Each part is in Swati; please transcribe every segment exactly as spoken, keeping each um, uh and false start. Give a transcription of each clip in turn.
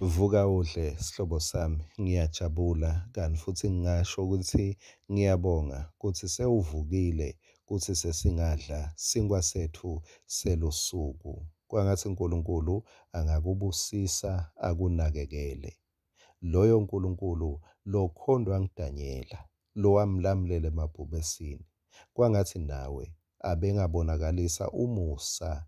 Vuka udle sihlobo sami, ngiyajabula kanti futsi ngingasho kutsi ngiyabonga kutsi sewuvukile kutsi sesingadla sinkhwa setfu selusuku. Kwangatsi Nkulunkulu angakubusisa akunakekele. Loyo Nkulunkulu lokhondwa nguDanyela, lowamlamulela emabhubesini, kwangatsi nawe abengabonakalisa umusa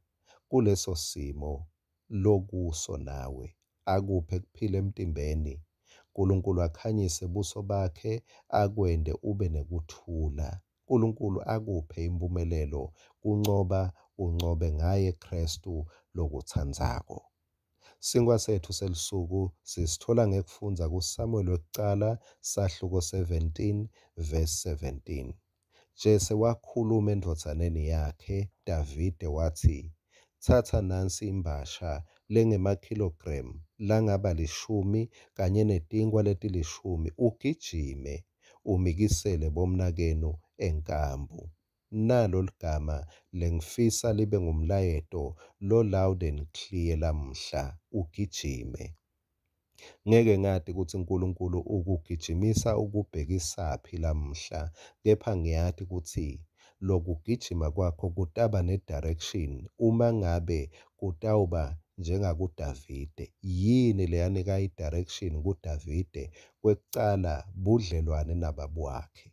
kuleso simo lokuso nawe, akuphe kuphila emtimbeni. Nkulunkulu akhanyise buso bakhe akwente ube nekuthula. Nkulunkulu akuphe imphumelelo, kuncoba uncobe ngaye Khristu lokutsandzako. Sinkhwa setfu selusuku sisitfola ngekufundza kuSamuel wekucala sahluko seventeen verse seventeen. Jese wakhuluma endvodzaneni yakhe Davide watsi, Tsatsa nansi imbasha lengemakhilogremu langaba lishumi kanye netinkhwa letilishumi ugijime umikisele bomnakenu enkambu. Nalo ligama lengifisa libe ngumlayeto lo-loud and clear lamuhla, ugijime. Ngeke ngati kutsi Nkulunkulu ukugijimisa ukubhekisaphi lamuhla, kepha ngiyati kutsi lokugijima kwakho kutaba ne-direction uma ngabe kutawuba njengakuDavide. Yini leyanika i-direction kuDavide? Kwekucala, budlelwane nababe wakhe.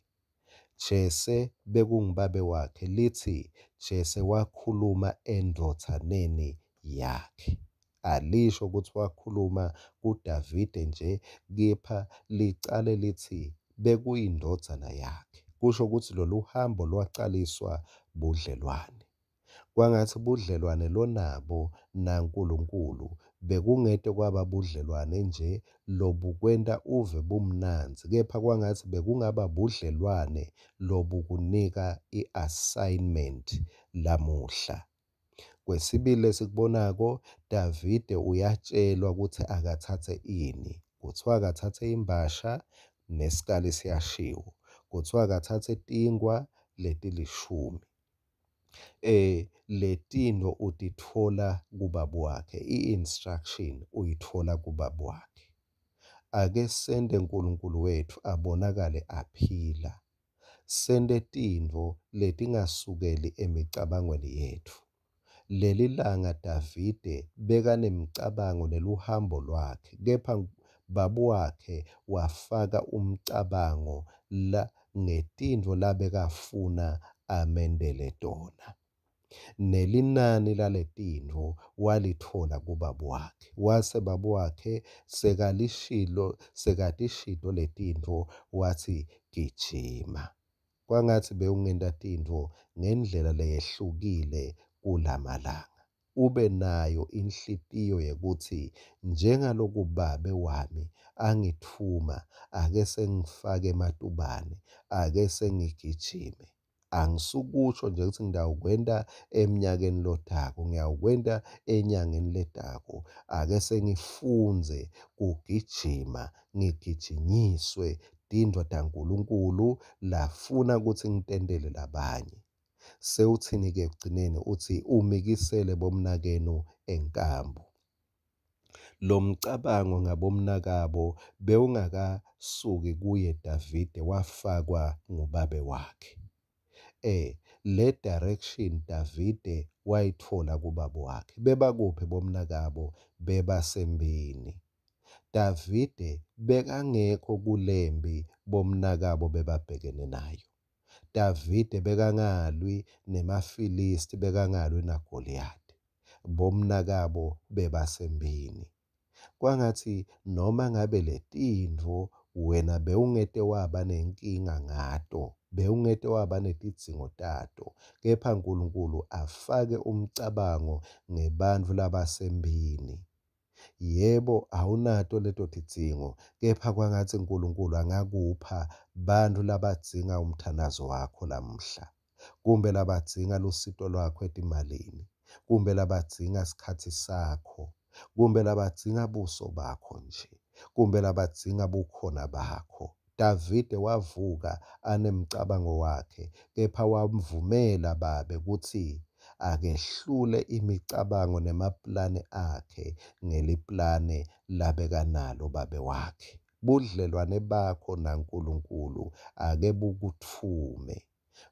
Jese bekungubabe wakhe, litsi Jese wakhuluma endvodzaneni yakhe. Alisho kutsi wakhuluma kuDavide nje, kepha licale litsi bekuyindvodzana yakhe. Kusho kutsi lolu hambo lwacaliswa budlelwane. Kwangatsi budlelwane lonabo naNkulunkulu bekungete kwaba budlelwane nje lobukwenta uve bumnandzi, kepha kwangatsi bekungaba budlelwane lobukunika i-assignment lamuhla. Kwesibili lesikubonako, Davide uyatshelwa kutsi akatsatse ini. Kuthiwa akatsatse imbasha nesikali siyashiwo. Kuthiwa akatsatse tinkhwa letilishumi. Eh letintfo utitfola kubaba wakhe, i-instruction uyitfola kubaba wakhe. Ake sente Nkulunkulu wetfu abonakale aphila. Sente tintfo letingasukeli emicabangweni yetfu. Leli langa Davide bekanemicabango neluhambo lwakhe, kepha babe wakhe wafaka umcabango la ngetintfo labekafuna amendele tona. Nelinani laletintfo walitfola kubabe wakhe. Wase babe wakhe sekalishilo, sekatishito letintfo watsi gijima. Kwangatsi bewungenta tintfo ngendlela leyehlukile kulamalanga. Ube nayo inhlitiyo yekutsi njengaloku babe wami angitfuma, ake sengifake ematubane, ake sengigijime. Angisukusho nje kutsi ngitawukwenta eminyakeni lotako, ngiyawukwenta enyangeni letako. Ake sengifundze kugijima, ngigijinyiswe tintfo taNkulunkulu lafuna kutsi ngitentele labanye. Sewutsini-ke ekugcineni? Utsi umikisele bomnakenu enkambu. Lomcabango ngabomnakabo bewungakasuki kuye Davide, wafakwa ngubabe wakhe. Eh, le direction Davide wayitfola kubaba wakhe. Bebakuphi bomnakabo? Bebasembini. Davide bekangekho kulempi bomnakabo bebabhekene nayo. Davide bekangalwi nemaFilisti, bekangalwi naGoliyathi. Bomnakabo bebasembini. Kwangatsi noma ngabe letintfo wena bewungete waba nenkinga ngato, bewungete waba netidzingo tato, kepha Nkulunkulu afake umcabango ngebantfu labasembini. Yebo, awunato leto tidzingo, kepha kwangatsi Nkulunkulu angakupha bantfu labadzinga umthandazo wakho lamuhla, kumbe labadzinga lusito lwakho etimalini, kumbe labadzinga sikhatsi sakho, kumbe labadzinga buso bakho nje, kumbe labadzinga bukhona bakho. Davide wavuka anemcabango wakhe, kepha wamvumela babe kutsi akehlule imicabango nemaplane akhe ngeliplane labekanalo babe wakhe. Budlelwane bakho naNkulunkulu ake bukutfume.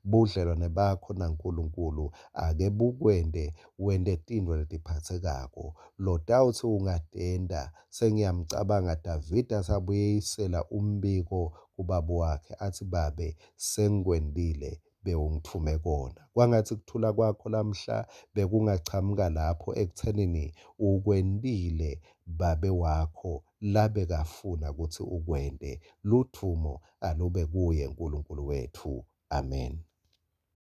Budlelwane bakho naNkulunkulu ake bukwente wente tintfo letiphatsekako lotawutsi ungatenta. Sengiyamcabanga Davide asabuyisela umbiko kubaba wakhe atsi, Babe, sengikwentile bewungitfume kona. Kwangatsi kuthula kwakho lamhla bekungachamuka lapho ekutsenini ukwentile babe wakho labekafuna kutsi ukwente. Ludvumo alube kuye Nkulunkulu wetfu. Amen.